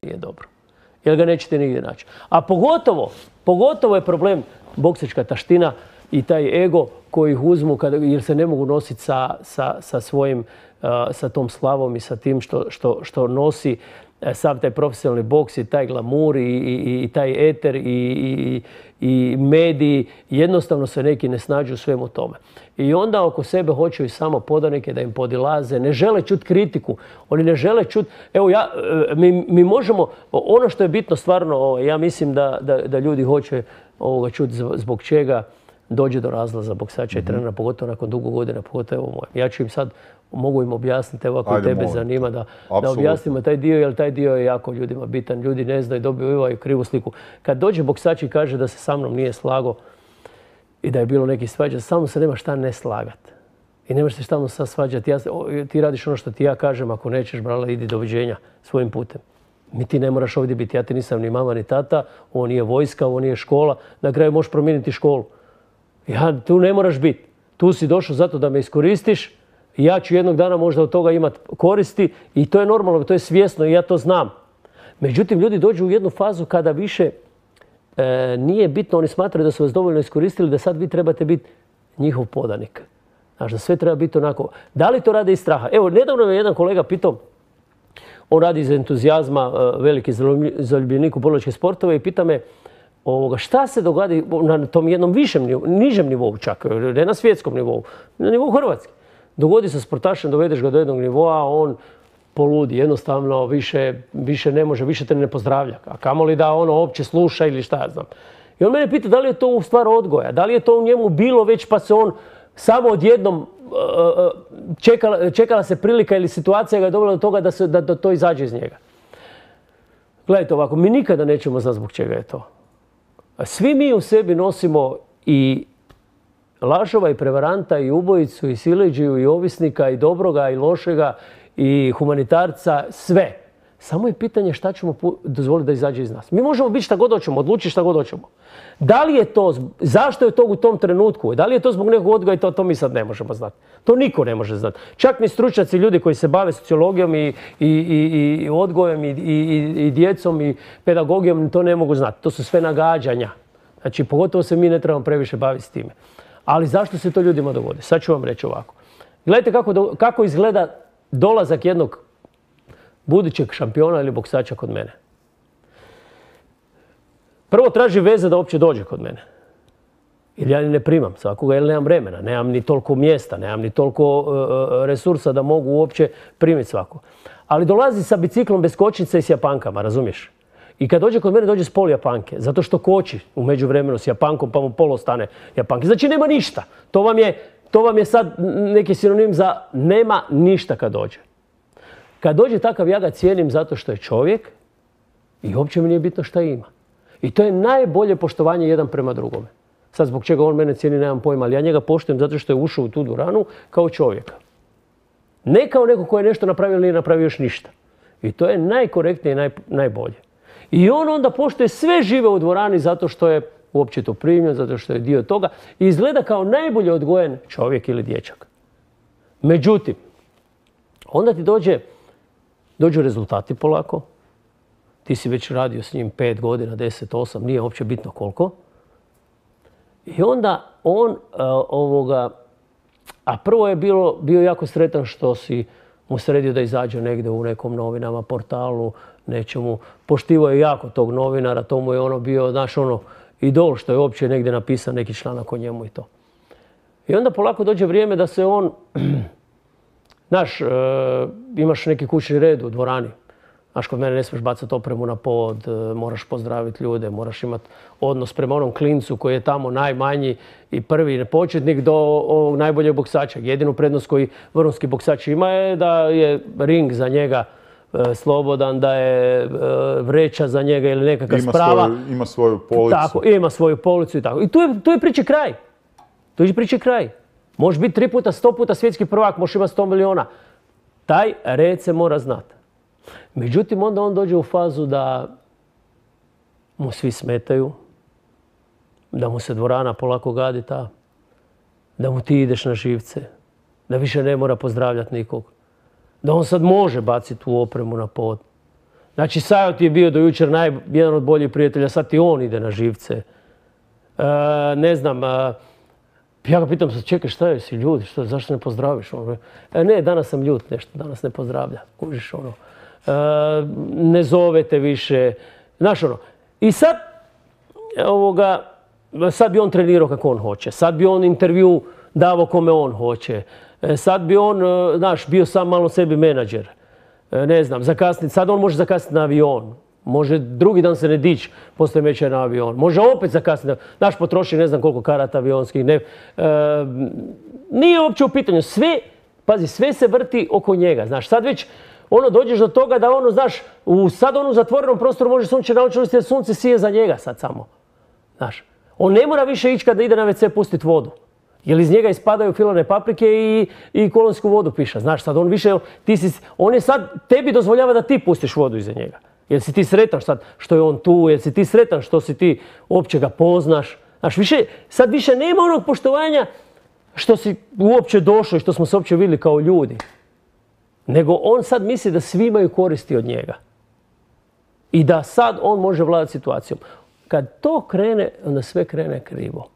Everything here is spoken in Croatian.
Nije dobro. Jer ga nećete nigdje naći. A pogotovo je problem boksačka taština i taj ego koji ih uzmu jer se ne mogu nositi sa tom slavom i sa tim što nosi sav taj profesionalni boks i taj glamur i taj eter i mediji. Jednostavno se neki ne snađu u svemu tome. I onda oko sebe hoću i samo podanike da im podilaze. Ne žele čuti kritiku. Oni ne žele čuti... Evo, mi možemo... Ono što je bitno stvarno, ja mislim da ljudi hoće čuti zbog čega dođe do razlaza boksača i trenera, pogotovo nakon dugo godina, pogotovo evo mojem. Ja ću im sad, mogu im objasniti, evo ako tebe zanima, da objasnimo taj dio, jer taj dio je jako ljudima bitan. Ljudi ne znaju, dobivaju krivu sliku. Kad dođe boksač i kaže da se sa mnom nije slago i da je bilo neki svađa, samo se nema šta ne slagati. I nemaš se šta sad svađati. Ti radiš ono što ti ja kažem, ako nećeš, brale, idi doviđenja svojim putem. Ti ne moraš ovdje biti. Ja ti nisam ni mama ni tata, ovo nije vojska, ovo nije škola. Na kraju možeš promijeniti školu. Tu ne moraš biti. Tu si došao zato da me iskoristiš. Ja ću jednog dana možda od toga imati koristi i to je normalno, to je svjesno i ja to znam. Međutim, ljudi dođu u jednu fazu kada više nije bitno, oni smatraju da su vas dovoljno iskoristili, da sad vi trebate biti njihov podanik. Znaš, da sve treba biti onako. Da li to rade iz straha? Evo, nedavno me jedan kolega pitao, on radi iz entuzijazma, veliki zaljubljenik u borilačke sportove i pita me šta se događa na tom jednom nižem nivou čak, ne na svjetskom nivou, na nivou Hrvatske. Dogodi se sportašem, dovedeš ga do jednog nivoa, on poludi, jednostavno više ne može, više te ne pozdravlja. A kamoli da ono uopće sluša ili šta ja znam. I on mene pita da li je to u stvar odgoja, da li je to u njemu bilo već pa se on samo odjednom čekala se prilika ili situacija ga je dovela do toga da to izađe iz njega. Gledajte ovako, mi nikada nećemo znati zbog čega je to. Svi mi u sebi nosimo i lažova i prevaranta i ubojicu i siledžiju i ovisnika i dobroga i lošega i humanitarca, sve. Samo je pitanje šta ćemo dozvoliti da izađe iz nas. Mi možemo biti šta god hoćemo, odlučiti šta god hoćemo. Da li je to, zašto je to u tom trenutku? Da li je to zbog nekog odgoja i to mi sad ne možemo znati. To niko ne može znati. Čak ni stručnjaci, ljudi koji se bave sociologijom i odgojem i djecom i pedagogijom, to ne mogu znati. To su sve nagađanja. Znači, pogotovo se mi ne trebamo previše baviti s time. Ali zašto se to ljudima dogodi? Sad ću vam reći ovako. Gledajte kako izgleda dolazak jednog budućeg šampiona ili boksača kod mene. Prvo traži veze da uopće dođe kod mene. Jer ja ne primam svakoga, jer nemam vremena, nemam ni toliko mjesta, nemam ni toliko resursa da mogu uopće primiti svako. Ali dolazi sa biciklom bez kočnice i s japankama, razumiješ? I kad dođe kod mene, dođe s pol japanke, zato što koči u međuvremenu s japankom pa mu polo stane japanke. Znači nema ništa. To vam je sad neki sinonim za nema ništa kad dođe. Kad dođe takav, ja ga cijenim zato što je čovjek i uopće mi nije bitno šta ima. I to je najbolje poštovanje jedan prema drugome. Sad zbog čega on mene cijeni nemam pojma, ali ja njega poštujem zato što je ušao u tu dvoranu kao čovjeka. Ne kao neko ko je nešto napravio ili nije napravio još ništa. I to je najkorektnije i najbolje. I on onda poštuje sve žive u dvorani zato što je uopće to primljen, zato što je dio toga i izgleda kao najbolje odgojen čovjek ili dječak. Međutim, onda ti dođu rezultati polako. Ti si već radio s njim 5 godina, 10, 8, nije uopće bitno koliko. I onda on a prvo je bio jako sretan što si mu sredio da izađe negdje u nekom novinama, portalu, nečemu. Poštivao je jako tog novinara, to mu je bio, znaš, idol što je uopće negdje napisan neki članak o njemu i to. I onda polako dođe vrijeme da se on, znaš, imaš neki kućni red u dvorani. Znaš, kod mene ne smiješ bacati opremu na pod, moraš pozdraviti ljude, moraš imati odnos prema onom klincu koji je tamo najmanji i prvi početnik do ovog najboljeg boksača. Jedinu prednost koji vrhunski boksač ima je da je ring za njega slobodan, da je vreća za njega ili nekakva sprava. Ima svoju policu. Tako, ima svoju policu i tako. I tu je priče kraj. Tu je priče kraj. Možeš biti 3 puta, 100 puta svjetski prvak, možeš imati 100 miliona. Taj red se mora znati. Međutim, onda on dođe u fazu da mu svi smetaju, da mu se dvorana polako gadi da mu ti ideš na živce, da više ne mora pozdravljati nikog, da on sad može baciti tu opremu na pod. Znači, Sajot je bio do jučer jedan od boljih prijatelja, sad i on ide na živce. Ne znam, ja ga pitam, čekaj, šta je, si ljud, zašto ne pozdraviš? Ne, danas sam ljud nešto, danas ne pozdravlja. Kužiš, ne zovete više. Znaš, i sad, sad bi on trenirao kako on hoće. Sad bi on intervju davao kome on hoće. Sad bi on, znaš, bio sam malo sebi menadžer. Ne znam, zakasniti. Sad on može zakasniti na avion. Može drugi dan se ne dići poslije meča na avion. Može opet zakasniti. Znaš, potroši ne znam koliko karata avionskih. Nije uopće u pitanju. Sve se vrti oko njega. Znaš, sad već dođeš do toga da znaš, sad on u zatvorenom prostoru može sunčeve naočalosti jer sunce sije za njega sad samo. Znaš, on ne mora više ići kada ide na WC pustiti vodu. Jer iz njega ispadaju filane paprike i kolonsku vodu piša. Znaš, sad on više, on je sad, tebi dozvoljava da ti pustiš vodu iza njega. Jel si ti sretan sad što je on tu, jel si ti sretan što si ti uopće ga poznaš. Znaš, sad više nema onog poštovanja što si uopće došao i što smo se uopće vidjeli kao ljudi. Nego on sad misli da svi imaju koristi od njega. I da sad on može vladati situacijom. Kad to krene, onda sve krene krivo.